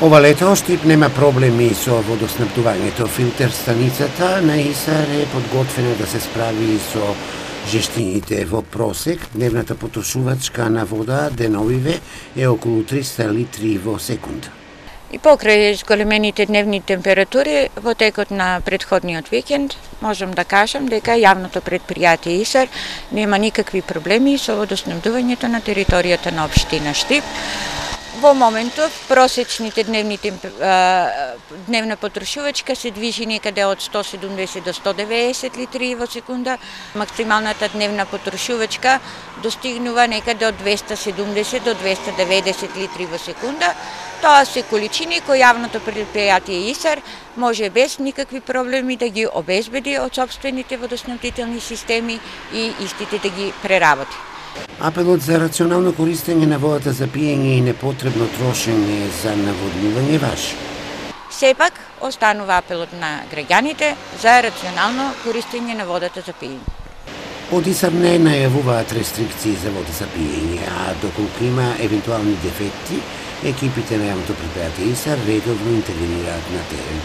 Ова лето Штип нема проблеми со водоснабдувањето. Филтер станицата на Исар е подготвена да се справи со жештините. Во просек дневната потрошувачка на вода деновиве е околу 300 литри во секунда. И покрај зголемените дневни температури во текот на претходниот викенд, можам да кажам дека јавното предпријатие Исар нема никакви проблеми со водоснабдувањето на територијата на општина Штип. Во моментов просечните дневна потрошувачка се движи некаде од 170 до 190 литри во секунда. Максималната дневна потрошувачка достигнува некаде од 270 до 290 литри во секунда. Тоа се количини кои јавното предпријатие Исар може без никакви проблеми да ги обезбеди од сопствените водоснабдителни системи и истите да ги преработи. Апелот за рационално користење на водата за пиење и непотребно трошење за наводнување важи. Сепак останува апелот на граѓаните за рационално користење на водата за пиење. Од Исар не најавуваат рестрикции за вода за пиење, а доколку има евентуални дефекти, екипите на јавното предпријатие Исар редовно интервенираат на терен.